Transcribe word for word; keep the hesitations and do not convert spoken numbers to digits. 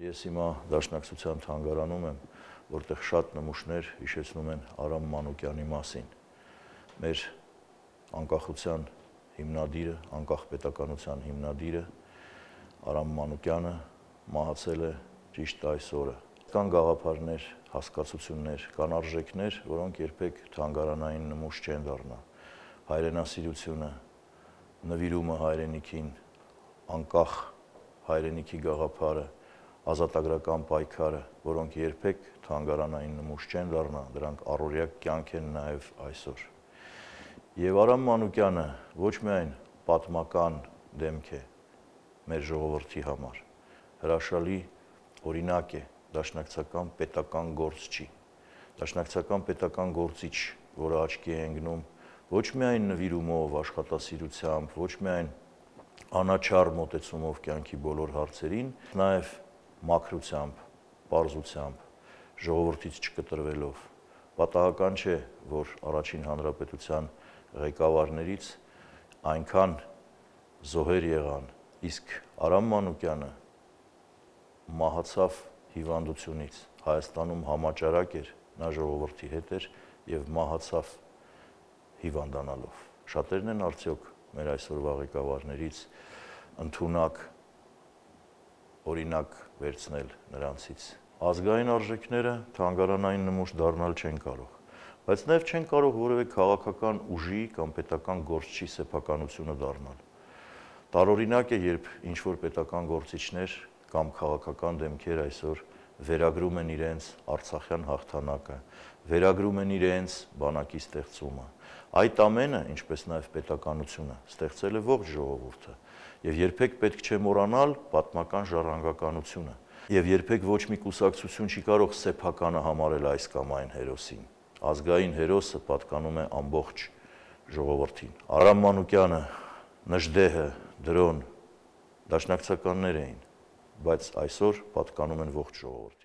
Ես հիմա Դաշնակցության թանգարանում եմ, որտեղ շատ նմուշներ հիշեցնում են Արամ Մանուկյանի մասին։ Մեր անկախության հիմնադիրը, անկախ պետականության հիմնադիրը Արամ Մանուկյանը մահացել է ճիշտ այս օրը։ Կան գաղափարներ, հասկացություններ, կան արժեքներ, որոնք երբեք թանգարանային նմուշ չեն դառնա։ Հայրենասիրությունը, նվիրումը հայրենիքին, անկախ հայրենիքի գաղափարը, ազատագրական պայքարը, որոնք երբեք թանգարանային նմուշ չեն դառնա, դրանք առօրյա կյանք են նաև այսօր։ Եվ Արամ Մանուկյանը ոչ միայն պատմական դեմք է մեր ժողովրդի համար, հրաշալի օրինակ է, դաշնակցական պետական գործչի, դաշնակցական պետական գործիչ, որը աչքի է ընկնում ոչ միայն նվիրումով, աշխատասիրությամբ, ոչ միայն անաչառ մոտեցումով կյանքի բոլոր հարցերին, նաև մաքրությամբ, պարզությամբ, ժողովրդից չկտրվելով։ Պատահական չէ, որ առաջին հանրապետության ղեկավարներից այնքան զոհեր եղան, իսկ Արամ Մանուկյանը մահացավ հիվանդությունից, Հայաստանում համաճարակ էր, նա ժողովրդի հետ էր և մահացավ հիվանդանալով։ Շատերն են արդյոք մեր այսօրվա ղեկավարներից ընդունակ օրինակ վերցնել նրանցից։ Ազգային արժեքները թանգարանային նմուշ դառնալ չեն կարող, բայց նաև չեն կարող որևէ քաղաքական ուժի կամ պետական գործչի սեփականությունը դառնալ։ Տարօրինակ է, երբ ինչ-որ պետական գործիչներ կամ քաղաքական դեմքեր այսօր վերագրում են իրենց Արցախյան հաղթանակը, վերագրում են իրենց բանակի ստեղծումը։ Այդ ամենը, ինչպես նաև պետականությունը, ստեղծել է ողջ ժողովուրդը, և երբեք պետք չէ մոռանալ պատմական ժառանգականությունը, և երբեք ոչ մի կուսակցություն չի կարող սեփականը համարել այս կամ այն հերոսին։ Ազգային հերոսը պատկանում է ամբողջ ժողովրդին։ Արամ Մանուկյանը, Նժդեհը, Դրոն դաշնակցականներ էին, բայց այսօր պատկանում են ողջ ժողովրդին։